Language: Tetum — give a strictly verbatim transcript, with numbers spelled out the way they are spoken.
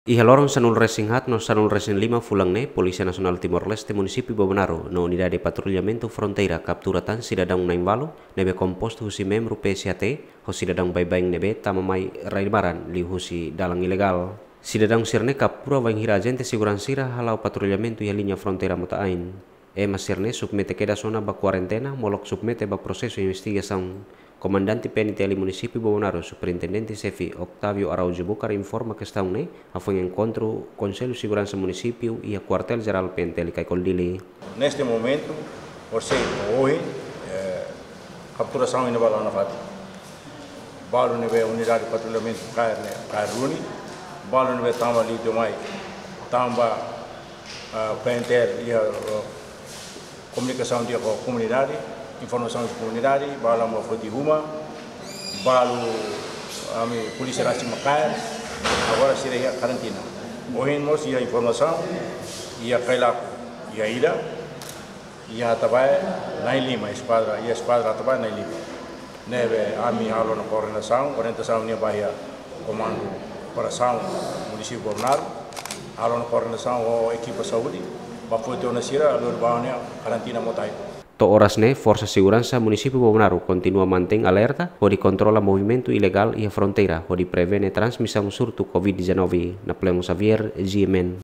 Iha loron sanulu resin haat no sanulu resin lima fulan ne'e, Polísia Nasionál Timor-Leste Munisípiu Bobonaro no Unidade Patrullamentu Fronteira kaptura tan sidadaun na'in-ualu ne'ebé kompostu husi membru P S H T ho sidadaun baibain ne'ebé tama mai rai-barak liuhusi dalan ilegál. Sidadaun sira-ne'e kaptura bainhira ajente seguransa sira hala'o patrullamentu iha liña fronteira Mota-Ain. Ema sira-ne'e submete kedas ona ba kuarentena, molok submete ba prosesu investigasaun. Komandante P N T L Munisípiu Bobonaro, Superintendente Xefe Octavio Araújo Bucar informa kestaun ne'e hafoin enkontru Konsellu Seguransa Munisípiu iha Kuartél Jerál P N T L Caicol Dili. Neste momento, horisehik ohin, eh, kapturasaun iha ne'ebá la'o nafatin. Balu ne'ebé unidade patrullamentu kaer ne'e, kaer duni. Balu ne'ebé tama liu demais, tanba, ah, P N T L iha, ah, komunikasaun di'ak ho komunidade, informasaun ba komunidade, balu mak foti uma, balu ami polísia rasik mak kaer, agora sira iha karantina. Ohin mós iha informasaun, iha Cailaco iha ida, iha Atabae na'in-lima, eskuadra, iha eskuadra Atabae na'in-lima. Ne'ebé ami halo ona koordenasaun, orientasaun ne'e ba iha Komandu Operasaun Munisípiu Bobonaro, halo ona koordenasaun ho ekipa saúde, ba foti ona sira, lori ba ona iha karantina Mota-Ain. To'o oras ne'e, Forsa Seguransa Munisípiu Bobonaro kontinua mantein alerta hodi kontrola movimentu ilegál iha fronteira, hodi prevene transmisaun surtu Covid dezanove. Napoleão Xavier, G M N.